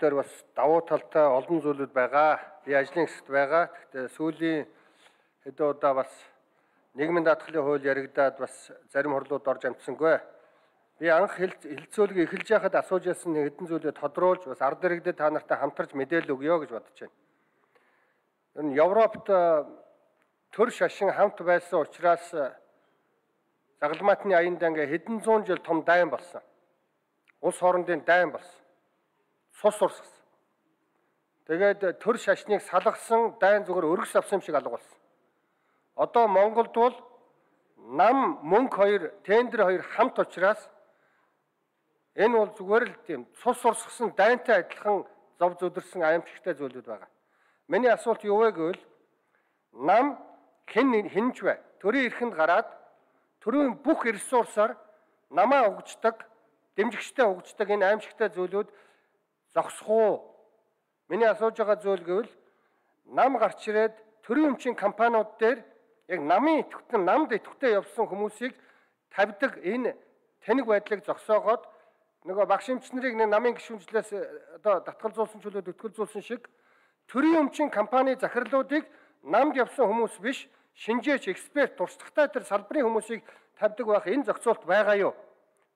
дээр бас давуу талтай олон зүйлүүд байгаа. Би ажлын хэсэгт байгаа. Гэхдээ сүүлийн хэдэн удаа бас нийгмийн даатгалын хууль яригадаад бас зарим хурлууд орж амжсангүй. Би анх хэлцүүлгийг эхэлж байхад асууж ясан хэдэн зүйлээ тодруулж бас ард иргэдэд та нартай хамтарч мэдээлэл өгье гэж бодож байна. Ер нь Европт төр шашин хамт байсан учраас загалмаатны аянд ингээ хэдэн зуун жил том дайн болсон. Улс хоорондын дайн болсон. Цус урсгасан. Тэгээд төр шашныг салгасан дайн зүгээр өргөс авсан юм шиг алга болсон. Одоо Монголд бол нам мөнгө хоёр, тендер хоёр хамт учраас энэ бол зүгээр л тийм цус урсгасан дайнтай адилхан зов зүдэрсэн аимшигтай зүйлүүд байгаа. Миний асуулт юу вэ гэвэл нам хинж бай. Төрийн эрхэнд гараад төрийн бүх ресурсаар намаа угждаг, дэмжигчтэй угждаг энэ аимшигтай зүйлүүд зогсох уу? Миний асууж байгаа зүйл гэвэл нам гарч ирээд төрийн өмчийн компаниуд дээр яг намын идэвхтэн, намд идэвхтэй явсан хүмүүсийг тавьдаг энэ тэнэг байдлыг зогсоогоод нөгөө багш эмч нарыг нэг намын гишүүнжлээс одоо татгалзуулсан чөлөөд өтгөлзүүлсэн шиг төрийн өмчийн компани захирлуудыг намд явсан хүмүүс биш, шинжээч, эксперт, туршлагатай тэр салбарын хүмүүсийг тавьдаг байх энэ зохицуулт байгаа юу?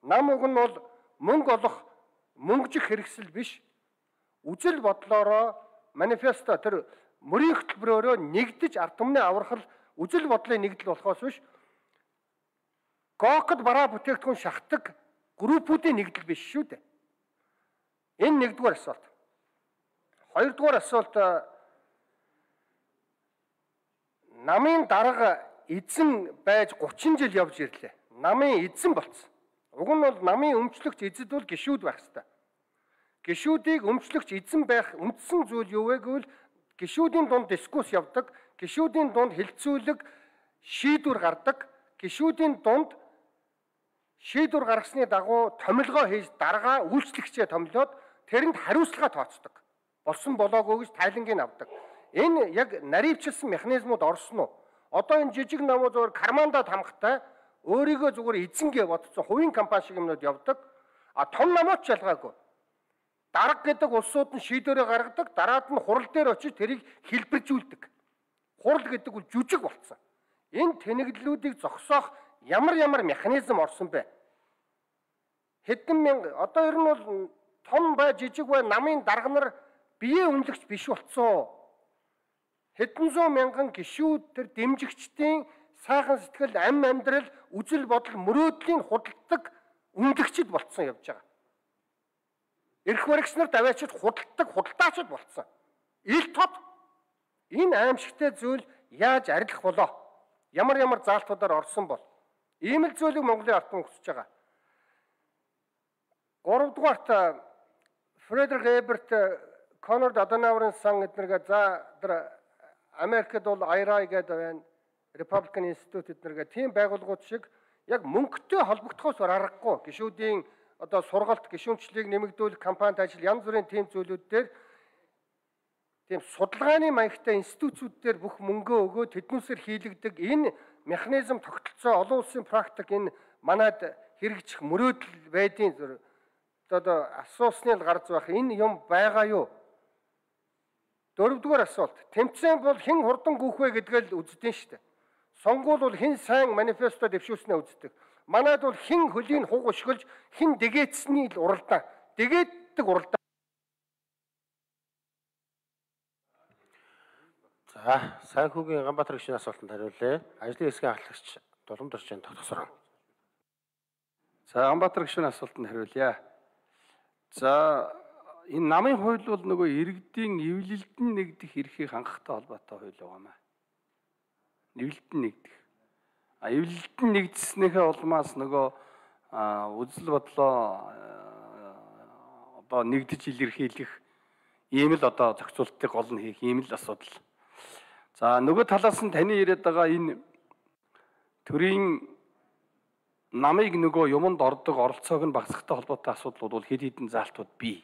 Нам уг нь бол мөнгө олох, мөнгөжих хэрэгсэл биш. Үжил бодлороо манифесто тэр мөрийн хөтөлбөрөөрөө нэгдэж ард түмний аврахал үжил бодлын нэгдэл болохоос биш. Гокод бараа бүтээгдэхүүн шахдаг группүүдийн нэгдэл биш шүү дээ. Энэ нэгдүгээр асуулт. Хоёрдугаар асуулт намын дарга эзэн байж 30 жил явж ирлээ. Намын эзэн болсон. Уг нь бол намын өмчлөгч эзэд бол гишүүд байх ёстой. Гишүүдийг өмчлөгч эзэн байх үндсэн зүйл юу вэ гэвэл гишүүдийн дунд дискусс явдаг, гишүүдийн дунд хилцүүлэг шийдвэр гардаг, гишүүдийн дунд шийдвэр гаргасны дагуу томилгоо хийж даргаа үйлчлэгчээ томилоод тэрэнд хариуцлага тооцдог. Болсон болоогүй гэж тайлангийг авдаг. Энэ яг наривчилсан механизмууд орсон уу? Одоо энэ жижиг намуу зүгээр кармандад хамгатай өөрийгөө зүгээр эзэнгээ бодсон хувийн компани шиг юмнууд явдаг. А том намууд ч ялгаагүй. Дарга гэдэг улсууд нь шийдвэрээ гаргадаг, дараад нь хурал дээр очиж тэрийг хэлбэржүүлдэг. Хурал гэдэг бол жүжиг болсон. Энэ тэнэглэлүүдийг зогсоох ямар механизм орсон бэ? Хэдэн мянга одоо ер нь бол том бай, жижиг бай намын дарга нар биеэ үнэлэгч биш болцсон. Хэдэн зуун мянган гишүүд тэр дэмжигчдийн сайхан сэтгэл, амьдрал, үжил бодол, мөрөөдлийн худалдаг үнэлэгчд болцсон явж байгаа. Эрх баригч нарт аваачид худалдаг худалдаачид болцсон. Ил тод энэ аимшигтай зүйл яаж арилах болоо? Ямар заалтуудаар орсон бол? Ийм л зүйлийг Монголын ард түмэн хүсэж байгаа. 3-дугаарт Фредерик Эберт, Конрад Аденауерын сан эднэргээ за тэр Америкт бол IRA гэдэг байна. Republican Institute эднэргээ тийм байгууллагууд шиг яг мөнгөтэй холбогдохоос аргагүй гишүүдийн одоо сургалт, гишүүнчлийг нэмэгдүүлэх, компанид ажил янз бүрийн тийм зүйлүүд дээр тийм судалгааны маягтай институцүүд дээр бүх мөнгөө өгөө тэднүүсээр хийлэгдэг энэ механизм тогтолцоо олон улсын практик энэ манайд хэрэгжих мөрөөдөл байдیں۔ Одоо асуусны л гарч байх энэ юм байгаа юу? 4-р асуулт. Тэмцээн бол хэн хурдан гүөх вэ гэдгээ л үздэг шүү дээ. Сонгуул бол хэн сайн манифесто дэвшүүлснээ үздэг. Манайд бол хэн хөлийн хуг өшгөлж, хэн дэгээдсэний л уралдаан. Дэгээддэг уралдаан. За, Сайнхүүгийн Ганбаатар гишүүний асуултанд хариулъя. Ажлын хэсгийн ахлагч Дулам Доржин тогтсороо. За, Ганбаатар гишүүний асуултанд хариулъя. За, энэ намын хууль бол нөгөө иргэдийн эвлэлдэн нэгдэх эрхийг хангахтай холбоотой хууль байгаамаа. Эвлэлдэн нэгдэх. Эвлэлдэн нэгдснийхээ улмаас нөгөө үзэл бодлоо одоо нэгдэж илэрхийлэх ийм л одоо зохицуултыг гол нь хийх ийм л асуудал. За нөгөө талаас нь таны яриад байгаа энэ төрийн намыг нөгөө юмд ордог оролцоог нь багасгахтай холбоотой асуудлууд бол хэд хэдэн заалтууд бий.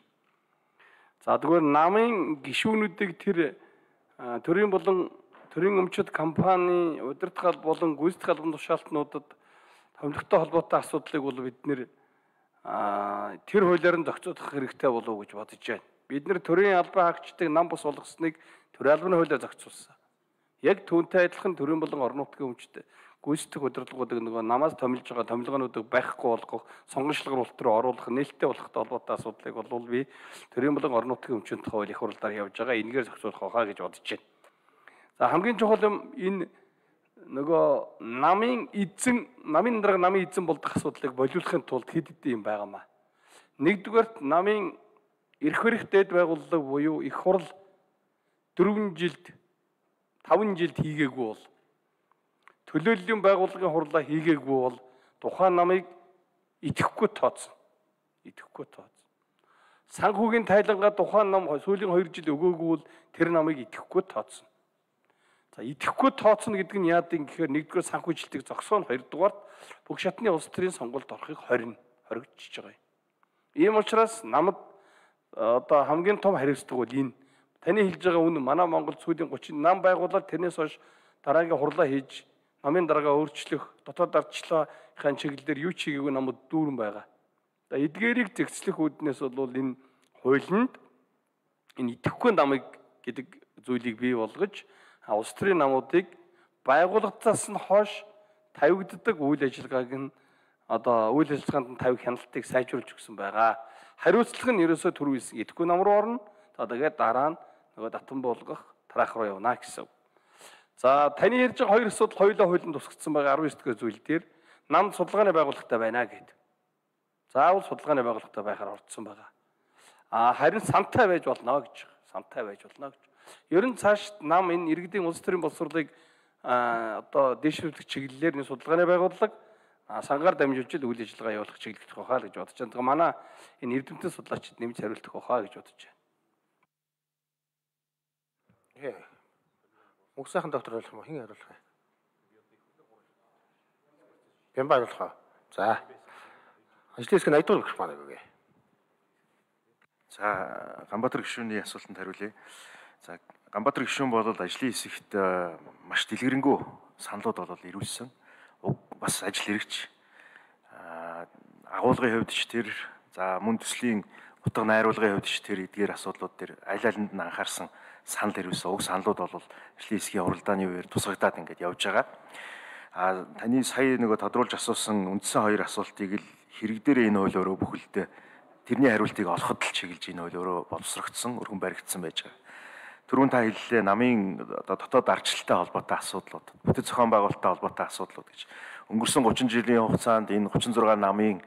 За тэгвэл намын гишүүнүүдийг тэр төрийн болон төрийн өмчит компани удирдах болон гүйцэтгэх албан тушаалтнуудад томилогтой холбоотой асуудлыг бол бид нэр тэр хуулиар нь зохицуулах хэрэгтэй болов уу гэж бодож байна. бид нар төрийн албан хаагчдыг нам бус болгосныг төрийн албаны хуулиар зохицуулсан. Яг түүнтэй адилхан төрийн болон орон нутгийн өмчт гүйцэтгэх удирдлагуудыг нөгөө намаас томилж байгаа томилгоонуудыг байхгүй болгох, сонгочлогор руу оруулах, нээлттэй болохтой холбоотой асуудлыг бол би төрийн болон орон нутгийн өмчийн тухай хуулийн хуралдаар явж байгаа. Энэгээр зохицуулах хаа гэж бодож байна. За хамгийн чухал юм энэ нөгөө намын дарга намын эзэн болдог асуудлыг болиулахын тулд хэд хэдэн юм байгаамаа. Нэгдүгээрт намын эрх барих дэд байгууллага буюу их хурал 4 жилд 5 жилд хийгээгүй бол төлөөллийн байгууллагын хурлаа хийгээгүй бол тухайн намыг итгэхгүй тооцсон. Санхүүгийн тайлангаа тухайн нам сүүлийн 2 жил өгөөгүй бол тэр намыг итгэхгүй тооцсон. За итгэхгүй тооцно гэдэг нь яадаг юм гэхээр нэгдүгээр санхүүжилтийг зогсооно, хоёрдугаар бүх шатны улс төрийн сонгуульд орохыг хоригдчихж байгаа юм. Ийм учраас намд одоо хамгийн том хариуцлага бол энэ. Таны хэлж байгаа үнэ манай Монгол сүүлийн 30 нам байгуулаад тэрнээс хойш дараагийн хурлаа хийж намын дараагаа өөрчлөх, дотоод ардчлалын чиглэлээр юу ч хийгээгүй намд дүүрэн байгаа. За эдгээрийг зэгцлэх үүднээс бол энэ хуулинд энэ итгэхгүй намыг гэдэг зүйлийг бий болгож улс төрийн намуудыг байгууллагатаас нь хойш тавигддаг үйл ажиллагааг нь одоо үйл ажиллагаанд нь тавих хяналтыг сайжруулж өгсөн байгаа. Хариуцлага нь ерөөсөө түрүү хэлсэн идэхгүй нам руу орно. За тэгээд дараа нь нөгөө татан буулгах тараах руу явна гэсэн. За таны ярьж байгаа хоёр асуудал хоёулаа хуулинд тусгагдсан байгаа 19 дэх зүйл дээр нам судалгааны байгууллагатай байна гэдэг. Заавал судалгааны байгууллагатай байхаар ордсон байгаа. Харин сантай байж болно гэж. Ер нь цааш нам энэ иргэдийн улс төрийн боловсролыг одоо дэвшүүлэх чиглэлээр нэг судалгааны байгууллага сангаар дамжуулж үйл ажиллагаа явуулах чиглэлдэх байхаа л гэж бодож байна. Тэгээ манай энэ эрдэмтэн судлаачид нэмж хариултах байхаа гэж бодож байна. Мөнх сайхан доктор ойлгох юм хэн хариулах вэ? Бямба хариулах уу? За. Ажлын хэсэг 80 дугаар гэх маань үгүй. За Ганбаатар гишүүний асуултанд хариулъя. За Ганбаатар гишүүн бол ажлын хэсэгт маш дэлгэрэнгүй саналууд бол ирүүлсэн. Бас ажил хэрэгч агуулгын хувьд ч тэр за мөн төслийн утга найруулгын хувьд ч тэр эдгээр асуудлууд тэр аль алинд нь анхаарсан санал ирүүлсэн. Уг саналууд бол ажлын хэсгийн уралдааны үеэр тусгагдаад ингээд явж байгаа. Таны сая нөгөө тодруулж асуусан үндсэн хоёр асуултыг л хэрэг дээр энэ хууль өөрөө бүхэлдээ тэрний хариултыг олоход л чиглэж энэ хууль өөрөө боловсрогдсон, өргөн баригдсан байж байгаа. Түрүүн та хэллээ намын дотоод ардчлалтай холбоотой асуудлууд, бүтэц зохион байгуулалттай холбоотой асуудлууд гэж. Өнгөрсөн 30 жилийн хугацаанд энэ 36 намын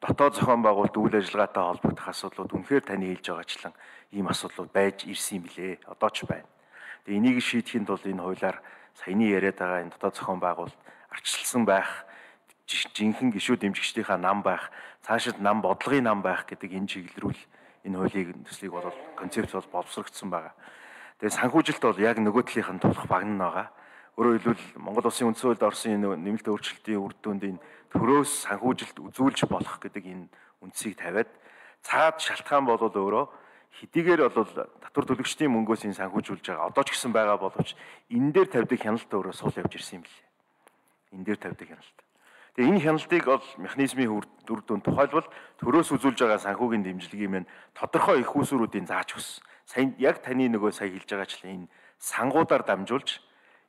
дотоод зохион байгуулалт үйл ажиллагаатай холбогдох асуудлууд үнэхээр таны хэлж байгаачлан ийм асуудлууд байж ирсэн юм билээ. Одоо ч байна. Тэгээ энийг шийдэхин тулд энэ хуулиар саяны яриад байгаа энэ дотоод зохион байгуулалт ардчилсан байх, жинхэнэ гишүүд дэмжигчдийнхаа нам байх, цаашид нам бодлогын нам байх гэдэг энэ чиглэлрүүл энэ хуулийн төслийг бол концепц бол боловсрогдсон байгаа. Тэгээ санхүүжилт бол яг нөгөө талынх нь тулах багна байгаа. Өөрөөр хэлбэл Монгол Улсын үндсэн хуульд орсон энэ нэмэлт өөрчлөлтийн үр дүнд энэ төрөөс санхүүжилт үзүүлж болох гэдэг энэ үндсийг тавиад цаад шалтгаан бол өөрөө хэдийгээр бол татвар төлөгчдийн мөнгөөс энэ санхүүжүүлж байгаа. Одоо ч гэсэн байгаа боловч энэ дээр тавьдаг хяналт өөрөө сул явж ирсэн юм билээ. Энэ дээр тавьдаг хяналт. Тэгээ энэ хяналтыг бол механизмын үр дүнд тухайлбал төрөөс үзүүлж байгаа санхүүгийн дэмжлэгийн мэн тодорхой их усруудын зааж өгсөн. Сайн яг таны нөгөө сая хэлж байгаачлан энэ сангуудаар дамжуулж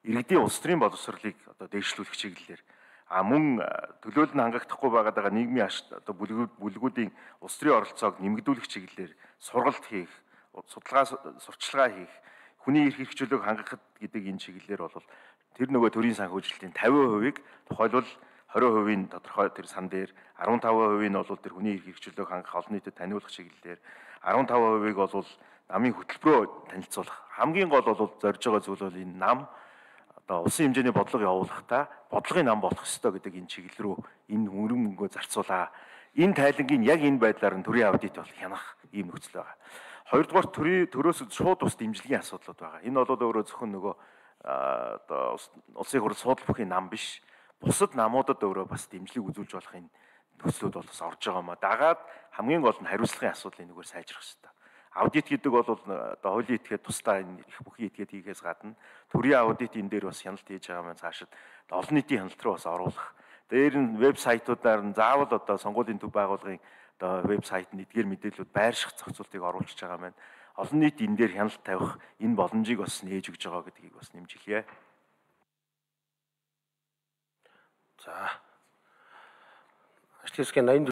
иргэдийн улс төрийн боловсролыг одоо дэвшлүүлэх чиглэлээр мөн төлөөлөл нь хангахдахгүй байгаа нийгмийн одоо бүлгүүдийн улс төрийн оролцоог нэмэгдүүлэх чиглэлээр сургалт хийх, сурталчилгаа хийх, хүний эрх хэрэгжүүлэг хангахад гэдэг энэ чиглэлээр бол тэр нөгөө төрийн санхүүжилтийн 50%-ийг тухайлбал 20% тодорхой тэр сан дээр 15% нь бол тэр хүний эрх хэрэгжүүлэг хангах олон нийтэд таниулах чиглэлээр 15%-ийг бол намын хөтөлбөрөөр танилцуулах. Хамгийн гол бол зорж байгаа зүйл бол энэ нам одоо улсын хэмжээний бодлого явуулахдаа бодлогын нам болох ёстой гэдэг энэ чиглэл рүү энэ хөрөнгө мөнгөө зарцуулаа. Энэ тайлангийн яг энэ байдлаар нь төрийн аудит бол хянах ийм нөхцөл байгаа. Хоёрдугаар төрөөс шууд ус дэмжлэгийн асуудлууд байгаа. Энэ бол өөрөө зөвхөн нөгөө одоо улсын хурал суудлах бүхий нам биш. Бусад намуудад өөрөө бас дэмжлэг үзүүлж болох энэ нөхцлүүд бол бас орж байгаа маа. Дагаад хамгийн гол нь хариуцлагын асуудлыг нэгээр сайжрах хэрэгтэй. Аудит гэдэг бол одоо хуулийн этгээд тусдаа энэ их бүхий этгээд хийхээс гадна төрийн аудит энэ дээр бас хяналт хийж байгаа маань цаашид олон нийтийн хяналт руу бас оруулах. Дээр нь вебсайтуудаар нь заавал одоо сонгуулийн төв байгууллагын одоо вебсайт нь эдгээр мэдээллүүд байрших зохицуултыг оруулж байгаа маань олон нийт энэ дээр хяналт тавих энэ боломжийг бас нээж өгж байгаа гэдгийг бас нэмж хэлье. За. Ажлын хэсгийн 80